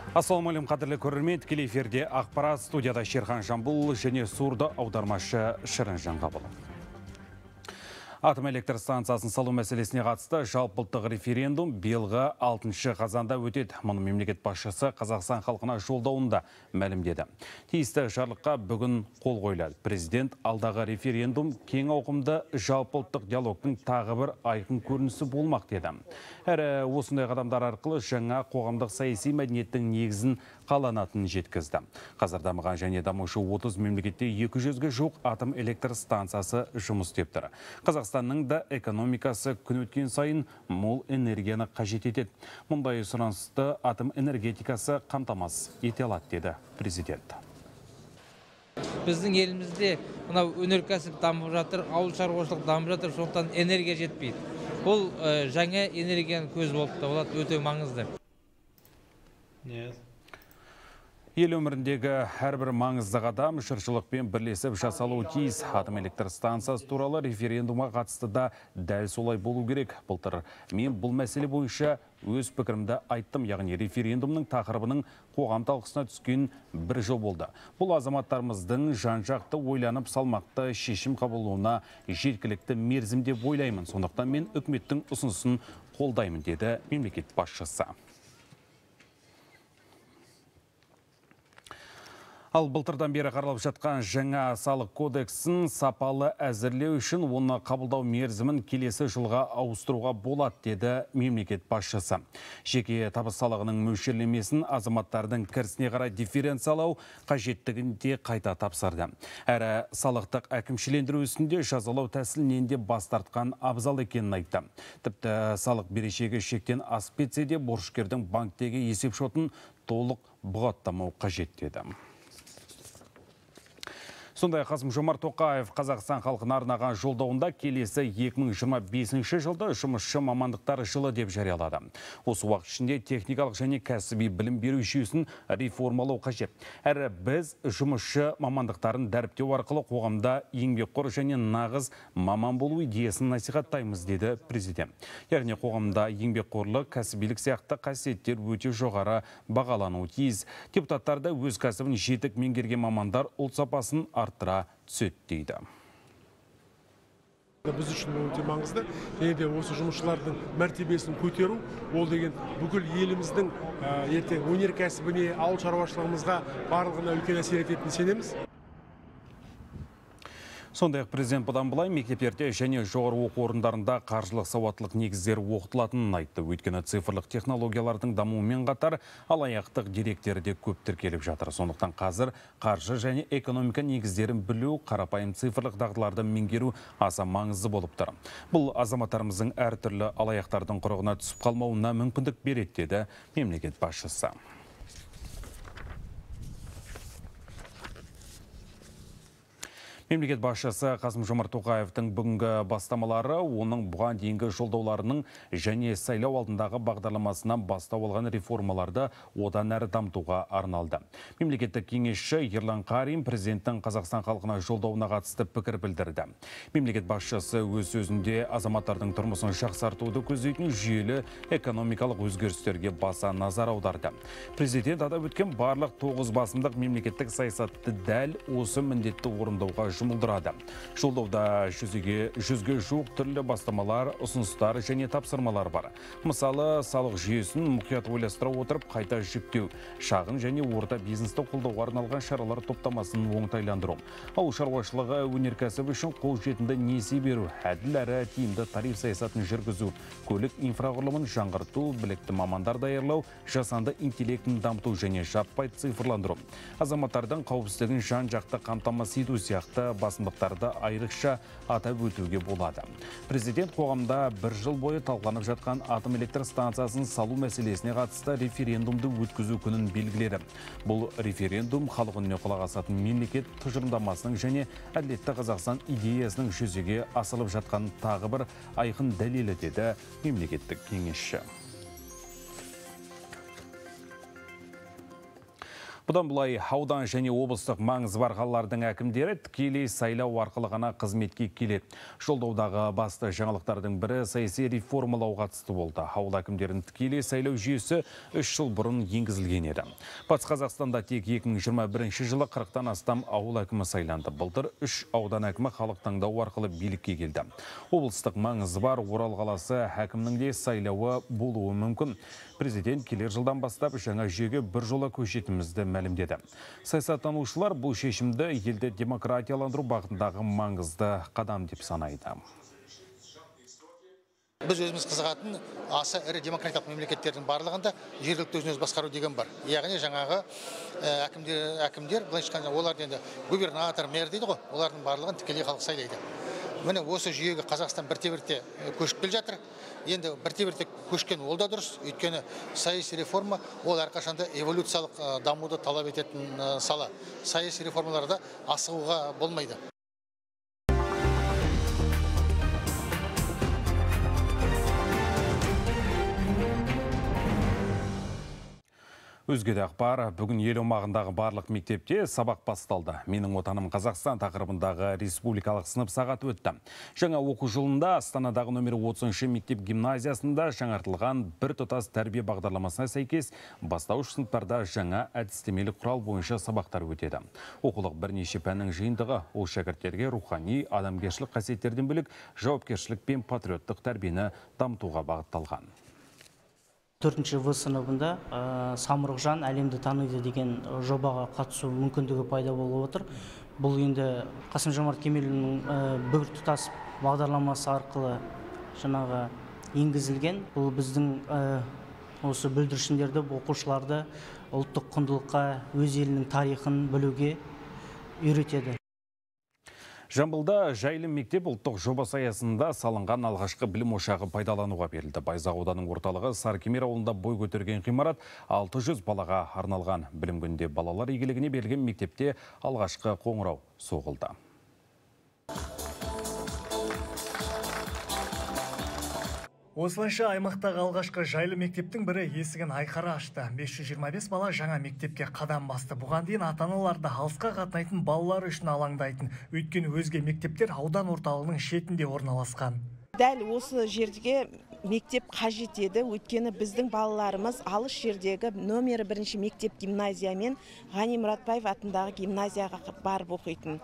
Ассалаумалейкум, қадірлі көрермен, тікелей эфирде ақпарат, студияда Шерхан Жамбул және сурды аудармашы Шырын Жанғабыл. Атом электр станциясын салу мәселесіне қатысты жалпылтық референдум биылғы 6 қазанда өтеді. Мұны мемлекет басшысы Қазақстан халқына жолдауында мәлімдеді. Тиісті жарлыққа бүгін қол қойылады. Президент алдағы референдум кең ауқымды жалпылтық диалогтың тағы бір айқын көрінісі болмақ деді. Әрі осындай қадамдар арқылы жаңа қоғамдық саяси мәдениеттің негізін қаланатынын жеткізді. Қазір дамыған және дамушы 30 мемлекетте 200-ге жуық атом электр станциясы жұмыс істеп тұр. Қазақстанның да экономикасы күн өткен сайын мол энергияны қажет етеді. Мұндай сұранысты атом энергетикасы қамтамасыз ете алады, деді президент. Біздің елімізде мынау өнеркәсіп дамып жатыр, ауыл шаруашылық дамып жатыр, сондықтан энергия жетпейді. Бұл жаңа энергияның көзі болып табылады, өте маңызды. Ел өміріндегі әрбір маңызды қадам жұртшылықпен бірлесіп жасалуы тиіс. Атом электр станциясы туралы референдумға қатысты да дәл солай болу керек. Былтыр мен бұл мәселе бойынша өз пікірімді айттым, яғни референдумның тақырыбының қоғам талқысына түскен бір жыл болды. Бұл азаматтарымыздың жан-жақты ойланып салмақты шешім қабылдауына жеткілікті мерзім деп ойлаймын. Сондықтан мен үкіметтің ұсынысын қолдаймын, деді мемлекет басшысы. Ал былтырдан бері қаралып жатқан жаңа салық кодексін сапалы әзірлеу үшін оны қабылдау мерзімін келесі жылға ауыстыруға болады, деді мемлекет басшысы. Жеке табыс салығының мөлшерлемесін азаматтардың кірісіне қарай дифференциялау қажеттігін де қайта тапсырды. Әрі салықтық әкімшілендіру ісінде жазалау тәсілінен де бас тартқан абзал екенін айтты. Тіпті салық берешегі шектен асып кетсе де борышкердің банктегі есепшотын толық бұғаттамау қажет, деді. Сондай Қасым-Жомарт Тоқаев Қазақстан халқына арнаған жолдауында келесі 2025 жылды жұмысшы мамандықтар жылы деп жариялады. Осы уақыт ішінде техникалық және кәсіби білім беру жүйесін реформалау қажет. Әрі біз жұмысшы мамандықтарын дәріптеу арқылы қоғамда еңбекқор және нағыз маман болу идеясын насихаттаймыз, деді президент. Яғни қоғамда еңбекқорлық, кәсібилік сияқты қасиеттер өте жоғары бағалануы тиіс. Депутаттар да өз кәсібін жетік меңгерген мамандар ұлт сапасын арттыра түседі, дейді. Біз үшін өте маңызды. Және де осы жұмысшылардың мәртебесін көтеру, ол деген бүкіл еліміздің ертең өнеркәсібіне, ауыл шаруашылығымызға барлығына үлкен әсер ететініне сенеміз. Сондай-ақ президент бұдан былай мектептерде және жоғары оқу орындарында қаржылық сауаттылық негіздері оқытылатынын айтты. Өйткені цифрлық технологиялардың дамуымен қатар алаяқтық деректері де көп тіркеліп жатыр. Сондықтан қазір қаржы және экономика негіздерін білу, қарапайым цифрлық дағдыларды меңгеру аса маңызды болып тұр. Бұл азаматтарымыздың әртүрлі алаяқтардың құрығына түсіп қалмауына мүмкіндік береді, деді мемлекет басшысы. Мемлекет басшысы Қасым-Жомарт Тоқаевтың бүгінгі бастамалары оның бұған дейінгі жолдауларының және сайлау алдындағы бағдарламасынан бастау алған реформаларды одан әрі дамытуға арналды. Мемлекеттік кеңесші Ерлан Қарин президенттің Қазақстан халқына жолдауына қатысты пікір білдірді. Мемлекет басшысы өз сөзінде азаматтардың тұрмысын жақсартуды көздейтін жүйелі экономикалық өзгерістерге баса назар аударды. Президент атап өткен барлық 9 басымдық мемлекеттік саясатты дәл осы міндетті орындауға жұмылдырады. Жолдауда 100-ге жуық түрлі бастамалар, ұсыныстар және тапсырмалар бар. Мысалы, салық жүйесін мұқият ойластыра отырып қайта жүктеу, шағын және орта бизнесті қолдауға арналған шаралар топтамасын оңтайландыру, ауыл шаруашылығы өнеркәсібі үшін қолжетімді несие беру, әділ әрі тиімді тариф саясатын жүргізу, көлік инфрақұрылымын жаңғырту, білікті мамандар даярлау, жасанды интеллектін дамыту және жаппай цифрландыру, азаматтардың қауіпсіздігін жан-жақты қамтамасыз ету сияқты басымдықтарды айрықша атап өтуге болады. Президент қоғамда бір жыл бойы талқыланып жатқан атом электр станциясын салу мәселесіне қатысты референдумды өткізу күнін белгіледі. Бұл референдум халық үніне құлақ асатын мемлекет тұжырымдамасының және әділетті Қазақстан идеясының жүзеге асырылып жатқан тағы бір айқын дәлелі, деді мемлекеттік кеңесші. Бұдан бұлай аудан және облыстық маңызы бар қалалардың әкімдері тікелей сайлау арқылы ғана қызметке келеді. Жолдаудағы басты жаңалықтардың бірі саяси реформалау қатысты болды. Ауыл әкімдерін тікелей сайлау жүйесі 3 жыл бұрын енгізілген еді. Батыс Қазақстанда тек 2021 жылы 40-тан астам ауыл әкімі сайланды. Былтыр 3 аудан әкімі халық таңдауы арқылы билікке келді. Облыстық маңызы бар Орал қаласы әкімнің де сайлауы болуы мүмкін. Президент келер жылдан бастап жаңа жүйеге бір жола көшетімізді мәлімдеді. Саясаттанушылар бұл шешімді елді демократияландыру бағытындағы маңызды қадам деп санайды. Біз өзіміз қызығатын аса ірі демократиялық мемлекеттердің барлығында жергілікті өзін-өзі басқару деген бар. Яғни жаңағы әкімдер, былайша айтқанда олар енді губернатор, мэр дейді ғой, олардың барлығын тікелей халық сайлайды. Міне осы жүйеге Қазақстан бірте-бірте көшіп келе жатыр. Енді бірте-бірте көшкен ол да дұрыс, өйткені саяси реформа ол әрқашанда эволюциялық дамуды талап ететін сала. Саяси реформаларда асығуға болмайды. Өзге де ақпар, бүгін ел аумағындағы барлық мектепте сабақ басталды. Менің отаным Қазақстан тақырыбындағы республикалық сынып сағаты өтті. Жаңа оқу жылында Астанадағы номер 30-шы мектеп гимназиясында жаңартылған бір тұтас тәрбие бағдарламасына сәйкес бастауыш сыныптарда жаңа әдістемелік құрал бойынша сабақтар өтеді. Оқулық бірнеше пәннің жиынтығы, ол шәкірттерге рухани, адамгершілік қасиеттерден бөлек жауапкершілік пен патриоттық тәрбиені дамытуға бағытталған. 4-ші В сыныбында Самұрықжан әлемді таниды деген жобаға қатысу мүмкіндігі пайда болып отыр. Бұл енді Қасым-Жомарт Кемелұлының бір тұтас бағдарламасы арқылы жаңағы енгізілген. Бұл біздің осы бүлдіршіндерді, оқушыларды ұлттық құндылыққа, өз елінің тарихын білуге үйретеді. Жамбылда жайлы мектеп ұлттық жобасы аясында салынған алғашқы білім ошағы пайдалануға берілді. Байзақ ауданының орталығы Сарыкемер ауылында бой көтерген ғимарат 600 балаға арналған. Білім күнінде балалар игілігіне берілген мектепте алғашқы қоңырау соғылды. Осылайша аймақтағы алғашқы жайлы мектептің бірі есігін айқара ашты. 525 бала жаңа мектепке қадам басты. Бұған дейін ата-аналарды алысқа қатынайтын балалар үшін алаңдайтын. Өйткені өзге мектептер аудан орталығының шетінде орналасқан. Дәл осы жерге мектеп қажет еді. Өйткені біздің балаларымыз алыс жердегі номері 1-ші мектеп гимназия мен Ғани Мұратбаев атындағы гимназияға барып оқитын.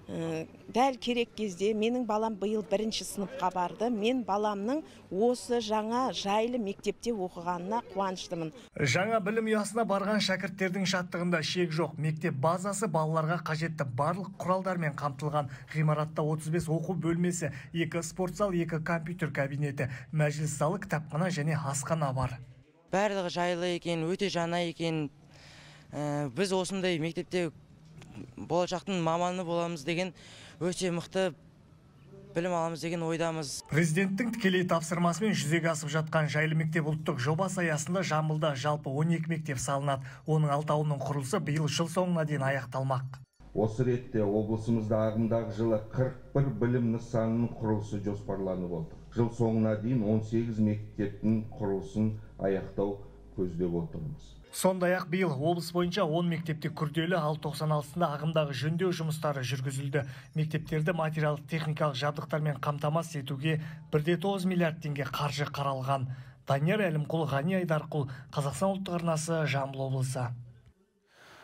Дәл керек кезде менің балам биыл 1-ші сыныпқа барды. Мен баламның осы жаңа жайлы мектепте оқығанына қуаныштымын. Жаңа білім ұясына барған шәкірттердің шаттығында шек жоқ. Мектеп базасы балаларға қажетті барлық құралдармен қамтылған. Ғимаратта 35 оқу бөлмесі, 2 спорт зал, 2 компьютер кабинеті, мәжіліс залы, кітапхана және асхана бар. Барлығы жайлы екен, өте жаңа екен. Біз осындай мектепте болашақтың маманы боламыз деген өте мықты білім аламыз деген ойдамыз. Президенттің тікелей тапсырмасымен жүзеге асып жатқан жайлы мектеп ұлттық жобасы аясында Жамбылда жалпы 12 мектеп салынады. Оның 6-ауының құрылысы биыл жыл соңына дейін аяқталмақ. Осы ретте облысымызда ағымдағы жылы 41 білім нысанының құрылысы жоспарланып отыр. Жыл соңына дейін 18 мектептің құрылысын аяқтау көздеп отырмыз. Сондай-ақ биыл облыс бойынша 10 мектепте күрделі, ал 96-сында ағымдағы жөндеу жұмыстары жүргізілді. Мектептерді материалдық техникалық жабдықтармен қамтамасыз етуге 1,9 миллиард теңге қаржы қаралған. Данияр Әлімқұл, Ғани Айдарқұл, Қазақстан ұлттық арнасы, Жамбыл облысы.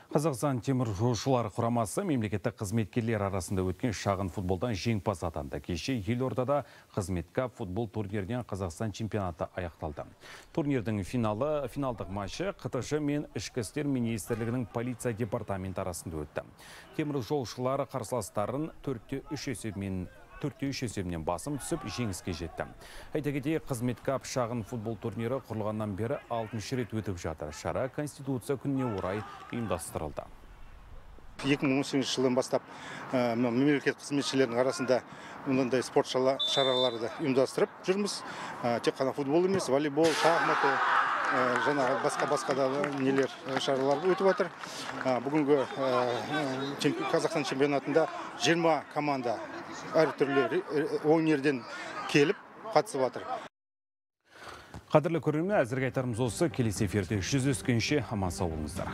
Қазақстан темір жолшылар құрамасы мемлекеттік қызметкерлер арасында өткен шағын футболдан жеңімпаз атанды. Кеше елордада қызметка футбол турнирінен Қазақстан чемпионаты аяқталды. Турнирдің финалдық матчы қтж мен ішкі істер министрлігінің полиция департаменті арасында өтті. Темір жолшылар қарсыластарын 4-3 есебінен басым түсіп жеңіске жетті. Айта кетейік, қызметкап шағын футбол турнирі құрылғаннан бері 6-шы рет өтіп жатыр. Шара Конституция күніне орай ұйымдастырылды. 2018 жылдан бастап мемлекет қызметшілерінің арасында мұндай спорт шараларды ұйымдастырып жүрміз. Тек қана футбол емес, волейбол, шахматы, жаңа басқа да нелер шаралар өтіп жатыр. Бүгінгі Қазақстан чемпионатында 20 команда әртүрлі өнерден келіп қатысып жатыр. Қадірлі көрермен, әзірге айтарымыз осы. Келесі эфирде жүздескенше аман сау болыңыздар.